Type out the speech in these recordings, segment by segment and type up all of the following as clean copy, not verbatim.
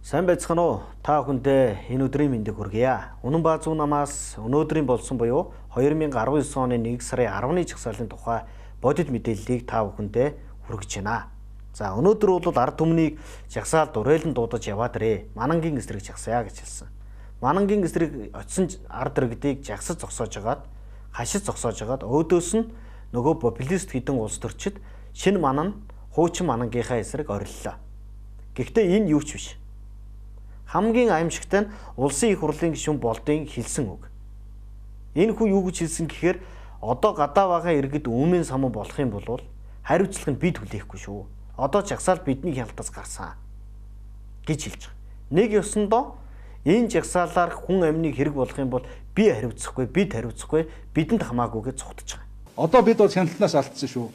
Сайн байцгаана уу? Та бүхэндээ энэ өдрийн мэндийг хүргье. Үнэн баа зүүн намаас өнөөдрийн болсон буюу 2019 оны 1 сарын 10-ны жагсаалын тухай бодит мэдээллийг та бүхэндээ хүргэж байна. За өнөөдөр бол ард түмнийг жагсаалд уриалан дуудаж яваад ирээ. Манангийн эсрэг жагсая гэж хэлсэн. Манангийн эсрэг очисон ард иргэдийг жагсаж зогсоож хагаад, хашиж зогсоож хагаад өөдөөс нь нөгөө популист хэдэн улс төрчид шинэ манан хуучин манангийнхаа эсрэг ориллоо. Гэхдээ энэ юу ч биш. Хамгийн аимшигтай нь улсын их хурлын гишүүн болдын хэлсэн үг. Энэ хүн юу гэж хэлсэн гэхээр одоо гадаа байгаа иргэд өмнө самуу болох юм бол хариуцлага нь бид хүлээхгүй шүү. Одоо жагсаал бидний хяналтаас гарсан гэж хэлж байгаа. Нэг ёсондоо энэ жагсаалаар хүн амныг хэрэг болох юм бол би хариуцахгүй, бид хариуцахгүй, бидэнд хамаагүй гэж цогтож байгаа. Одоо бид бол хяналтнаас алдсан шүү.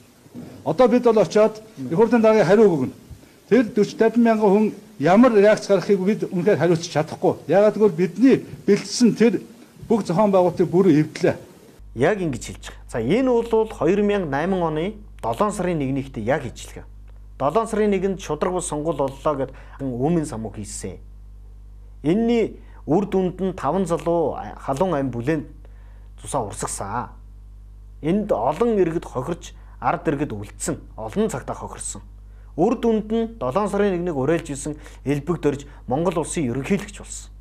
Одоо бид бол очиод их хурлын дараагийн хариу өгнө. Тэр 40-50 мянган хүн ямар реакц гаргахыг бид үнэхээр хариуцж чадахгүй. Яагаад гэвэл бидний бэлдсэн тэр бүх зохион байгуулалтыг бүрэн эвдлээ. Яг ингэж хэлж байгаа. За энэ бол 2008 оны 7 сарын 1-нд яг ижилгээ. 7 сарын 1-нд шудраг бус сонгуул боллоо гэд өмнө самуу хийсэн. Энэний үр дүнд нь 5 залуу халуун ам бүлээн цусаа урсгасан. Энд олон иргэд хохирч, ард иргэд үлдсэн, олон цагтаа хохирсон. Үр дүнд нь 7 сарын 1-нийг уриалж исэн элбэг дөрж Монгол улсын ерөнхийлөгч болсон.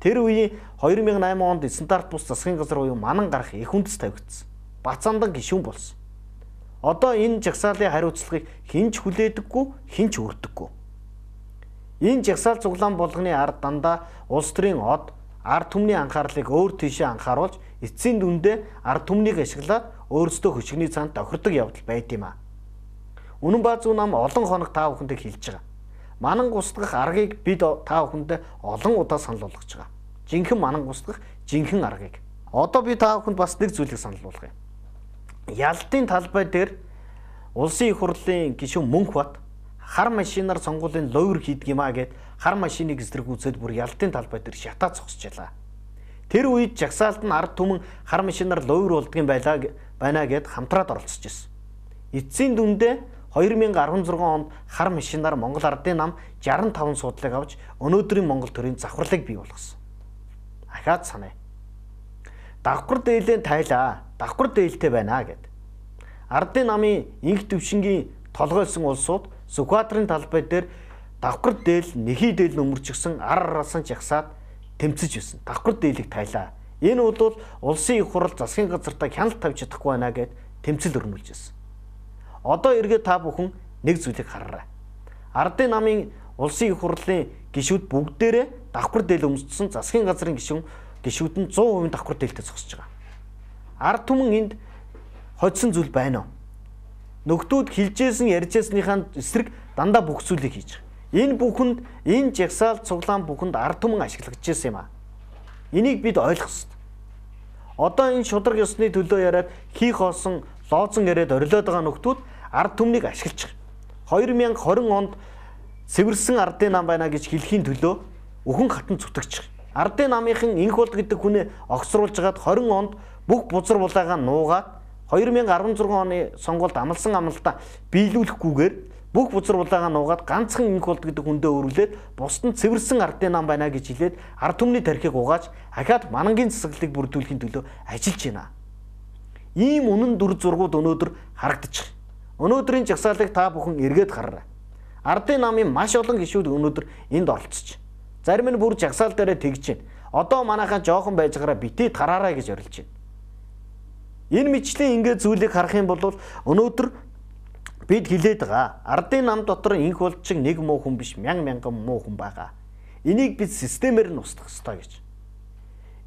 Тэр үеийн 2008 онд стандарт бус засгийн газар буюу манан гарах их үндэс тавигдсан. Бацаандан гишүүн болсон. Одоо энэ жагсаалын хариуцлагыг хинч хүлээдэггүй, хинч өрдөггүй. Энэ жагсаал цуглаан болгоны ард дандаа улс төрийн од, ард түмний анхаарлыг өөр тийшээ анхааруулж, эцсийн дүндээ ард түмнийг ашиглаад өөрсдөө хөшгөний цаанд тохирдог явдал байд юм а. Үнэн баа зүүн нам олон хоног та бүхэндээ хэлж байгаа. Манан гусдах аргыг бид та бүхэндээ олон удаа санал болгож байгаа. Жинхэнэ манан гусдах жинхэнэ аргыг. Одоо би та бүхэнд бас нэг зүйлийг санал болгоё. Ялтын талбай дээр улсын их хурлын гишүүн Мөнхбат хар машинаар сонгуулийн лойр хийдэг юм а гэд хар машиныг эсрэгүүцээд бүр ялтын талбай дээр шатаа зогсчихлаа. Тэр үед жагсаалд нь ард түмэн хар машинаар лойр болдгийн байна гэд хамтраад оролцож ирсэн. Эцсийн дүндээ 2016 онд хар машинаар Монгол ардын нам 65 суудлыг авч өнөөдрийн Монгол төрийн завхарлыг бий болгосон. Ахаад санаа. Давхар дээлээ тайлаа. Давхар дээлтэй байна гэд. Ардын намын инх төвшингийн толгойлсон улсууд Сүхбаатарын талбай дээр давхар дээл, нэхий дээл нөмөрчгсөн ар араас нь жагсаад тэмцэж байсан. Давхар дээлийг тайлаа. Энэ бол улсын их хурл засгийн газартаа хяналт тавьж чадахгүй байна гэд тэмцэл өрнүүлж байсан. Одоо эргээд та бүхэн нэг зүйлийг хараарай. Ардын намын улсын их хурлын гишүүд бүгдээрээ давхар дээл өмссөн засгийн газрын гишүүд нь 100% давхар дээлтэй зогсож байгаа. Ард түмэн энд хоцсон зүйл байна уу? Нөхдүүд хилжсэн ярьжсныхаа эсрэг дандаа бүх зүйлийг хийж байгаа. Энэ бүхэнд энэ жагсаал цуглаан бүхэнд ард түмэн ашиглагдаж байсан юм а. Энийг бид ойлгох ёстой. Одоо энэ шудраг ёсны төлөө яриад хийх хоосон лоозон яриад орилоод байгаа нөхдүүд ард түмнийг ашиглаж байгаа. 2020 онд цэвэрсэн ардын нам байна гэж хэлхийн төлөө өхөн хатан зүтгэж байгаа. Ардын намынхан инх бол гэдэг хүнээ огцруулж гаад 20 онд бүх бузар булаагаа нуугаад 2016 оны сонгуульд амлсан амлалтаа биелүүлэхгүйгээр бүх бузар булаагаа нуугаад ганцхан инх бол гэдэг хүндээ өрүүлээд бусд нь цэвэрсэн ардын нам байна гэж хэлээд ард түмний тархийг угааж ахаад манангийн засаглалыг бүрдүүлэхийн төлөө ажиллаж байна. Ийм үнэн дүр зургууд өнөөдөр харагдаж байна. Өнөөдрийн жагсаалыг та бүхэн эргээд хараарай. Ардын намын маш олон гишүүд өнөөдөр энд оролцож. Зарим нь бүр жагсаал дээрээ тэгж байна. Одоо манайхаа жоохон байж гараа битээ тараарай гэж орилж байна. Энэ мэтчлийн ингээд зүйлийг харах юм бол өнөөдөр бид хилээд байгаа. Ардын нам дотор инх болч нэг муу хүн биш, мянган муу хүн байгаа. Энийг бид системээр нь устгах ёстой гэж.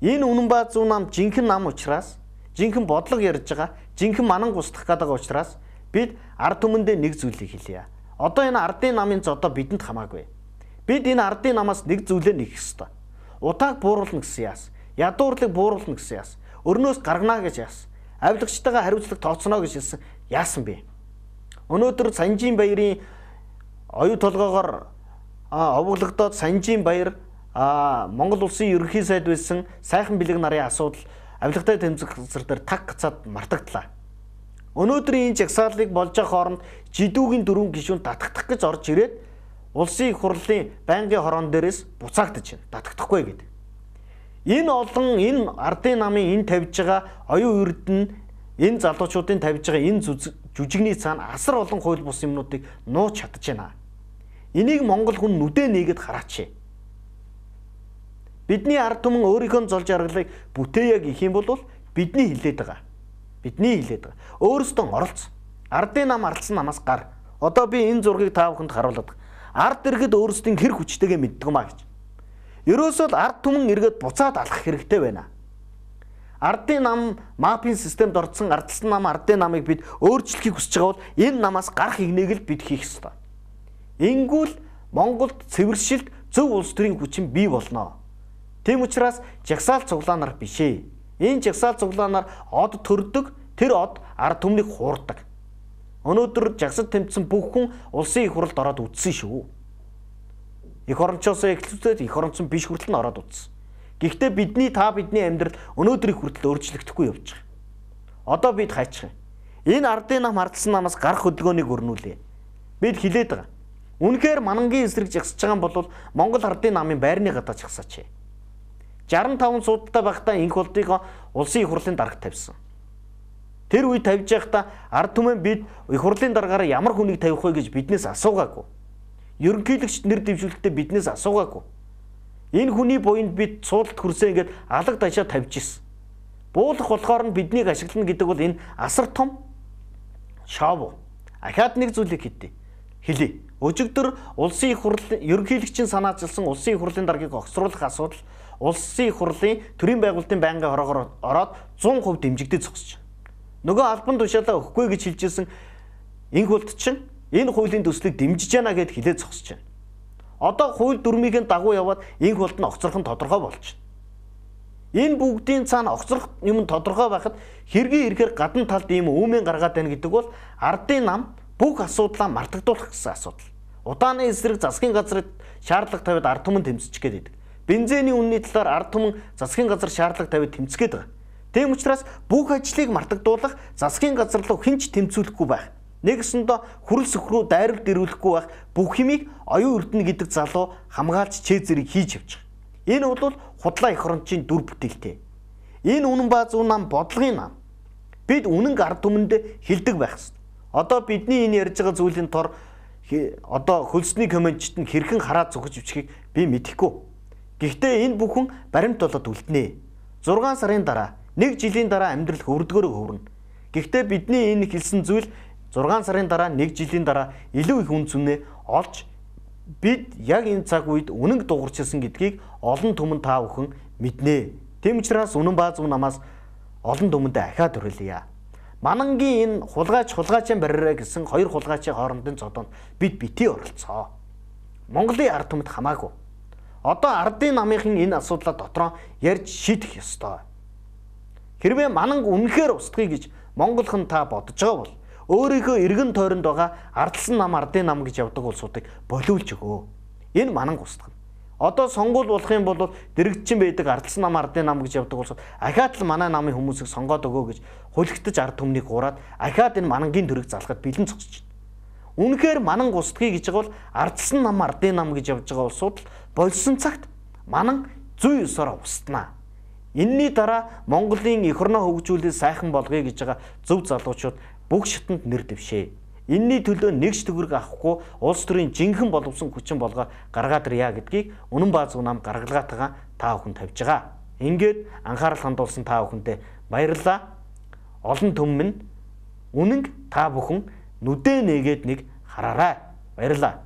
Энэ үнэн баа зүүн нам жинхэнэ нам учраас жинхэнэ бодлого ярьж байгаа, жинхэнэ манан гусдах гэдэг учраас бид ард түмэндээ нэг зүйлийг хэлье. Одоо энэ ардын намын зодоо бидэнд хамаагүй. Бид энэ ардын намаас нэг зүйлээ нэхэх ёстой. Утааг бууруулна гэсэн яас, ядуурлыг бууруулна гэсэн яас, өрнөөс гаргана гэж яас, авилгачтайгаа хариуцлага тооцно гэж хэлсэн яасан бэ? Өнөөдөр Санжийн баярын оюу толгоогоор овоглогдоод Санжийн баяр Монгол улсын ерөнхий сайд байсан сайхан бэлэг нарын асуудал авилгатай тэмцэх газар дээр таг гацаад мартагдлаа. Өнөөдрийн энэ жагсаалыг болж байгаа хооронд жидүүгийн дөрвөн гишүүн татагдах гэж орж ирээд улсын их хурлын байнгын хорон дээрээс буцаагдаж байна. Татагдахгүй гэдэг. Энэ олон энэ ардын намын энэ тавьж байгаа оюун үрд нь энэ залуучуудын тавьж байгаа энэ жүжигний цаана асар олон хууль бус юмнуудыг нууж чадж байна. Энийг Монгол хүн нүдэ нээгээд хараач. Бидний ард түмэн өөрийнхөө золж аргалыг бүтээе гэх юм бол бидний хилээд байгаа. Бидний хилээд байгаа. Өөрөөсөө оролцсон. Ардын нам ардсан намаас гар. Одоо би энэ зургийг та бүхэнд харуулдаг. Ард иргэд өөрсдийн хэр хүчтэйгээ мэддэг маа гэж. Ерөөсөө ард түмэн иргэд буцаад алах хэрэгтэй байна. Ардын нам мапын системд орцсон ардсан нам ардын намыг бид өөрчлөхийг хүсэж байгаа бол энэ намаас гарах игнийг л бид хийх ёстой. Ингүүл Монголд цэвэршилт зөв улс төрийн хүчин бий болно. Тийм учраас жагсаал цуглаанаар биш ээ. Энэ жагсаал цуглаанаар од төрдөг, тэр од ард түмнийг хуурдаг. Өнөөдөр жагсад тэмцсэн бүх хүн улсын их хурлд ороод үтсэн шүү. Их орончоос эхлүүлээд их оронцон биш хүртэл нь ороод үтсэн. Гэхдээ бидний амьдрал өнөөдрийн хүртэл өөрчлөгдөхгүй явж байгаа. Одоо бид хайчих юм. Энэ ардын нам ардсан намаас гарах хөдөлгөөнийг өрнүүлээ. Бид хилээд байгаа. Үнэхээр манангийн эсрэг жагсаж байгаа юм бол Монгол ардын намын байрны гадаа жагсаач. 65 суудалтай байхдаа инх болдыг улсын их хурлын дарагт тавьсан. Тэр үед тавьж байхдаа ард түмэн бид их хурлын дараагаар ямар хүнийг тавих вэ гэж биднээс асуугаагүй. Ерөнхийлөгчд нэр дэвшүүлэхдээ биднээс асуугаагүй. Энэ хүний буйнд бид суудалд хүрсэн ингээд алга дашаа тавьж ирсэн. Буулах болохоор нь биднийг ашиглана гэдэг бол энэ асар том шоу. Ахаад нэг зүйлийг хэлье. Өчигдөр улсын их хурлын ерөнхийлөгчийн санаачилсан улсын их хурлын даргийг огцруулах асуудал улсын их хурлын төрийн байгуулалтын байнгын хороогоор ороод 100% дэмжигдэж зогсож байна. Нөгөө албан тушаалаа өгөхгүй гэж хэлжсэн инх болт чинь энэ хуулийн төслийг дэмжиж байна гэд хэлээд зогсож байна. Одоо хууль дүрмийн дагуу яваад инх болт нь огцрох нь тодорхой болж байна. Энэ бүгдийн цаана огцрох юм тодорхой байхад хэргийн ирэхээр гадна талд ийм үүмэн гаргаад байна гэдэг бол ардын нам бүх асуудлаа мартагдуулах гэсэн асуудал. Удааны эсрэг засгийн газрыг шаардлага тавиад ард түмэн тэмцэж гээд байдаг. Бензиний үнэний талаар ард түмэн засгийн газар шаардлага тавиад тэмцгээд байгаа. Тийм учраас бүх ажлыг мартагдуулах засгийн газар руу хинч тэмцүүлэхгүй байх. Нэгэсэндээ хүрэл сөхрөө дайралт ирүүлэхгүй байх бүх хэмийг оюун эрдэнэ гэдэг залуу хамгаалж чэзэрийг хийж явж байгаа. Энэ бол худлаа их орончийн дүр бүтээлтэй. Энэ үнэн баа зөв нам бодлогын нам. Бид үнэн ард түмэнд хилдэг байх ёстой. Одоо бидний энэ ярьж байгаа зүйлийн тор одоо хөлсний комментчт нь хэрхэн хараад зүгэж өвчхийг би мэдэхгүй. Гэхдээ энэ бүхэн баримт болоод үлднэ. 6 сарын дараа, 1 жилийн дараа амьдрал хөврдгөөрөө хөврнө. Гэхдээ бидний энэ хэлсэн зүйл 6 сарын дараа, 1 жилийн дараа илүү их үн цэнэ олж бид яг энэ цаг үед үнэнг дуурчилсан гэдгийг олон түмэн та бүхэн мэднэ. Тэм учраас үнэн баа зөв намаас олон түмэндээ ахаад хүрэлье. Манангийн энэ хулгаачийн барьраа гэсэн хоёр хулгаачийн хоорондын зодоонд бид битгий оролцоо. Монголын ард түмэд хамаагүй. Одоо ардын намынхын энэ асуудлаа дотроо ярьж шийдэх ёстой. Хэрвээ мананг үнэхээр устгая гэж монголхон та бодож байгаа бол өөрийнхөө эргэн тойронд байгаа ардсан нам ардын нам гэж явдаг улсуудыг болиулж өгөө. Энэ мананг устгана. Одоо сонгуул болох юм бол дэрэгдчин байдаг ардсан нам ардын нам гэж явдаг улсууд ахаад л манай намын хүмүүсийг сонгоод өгөө гэж хулигтаж ард түмнийг гураад ахаад энэ манангийн төрөг залхад бэлэн зогсож байна. Үнэхээр манан устгая гэж байгаа бол ардсан нам ардын нам гэж явж байгаа улсууд болсон цагт манан зүй ёсоор устнаа. Энэний дараа Монголын эх орноо хөгжүүлэлт сайхан болгоё гэж байгаа зөв залуучууд бүх шатанд нэр дэвшээ. Энэний төлөө нэгж төгрөг авахгүй улс төрийн жинхэнэ боловсон хүчин болгоо гаргаад ирья гэдгийг үнэн баа зөв нам гаргалгаатайгаа та бүхэн тавьж байгаа. Ингээд анхаарал хандуулсан та бүхэндээ баярлалаа. Олон түмэн үнэнг та бүхэн нүдэ нээгээд нэг хараарай. Баярлалаа.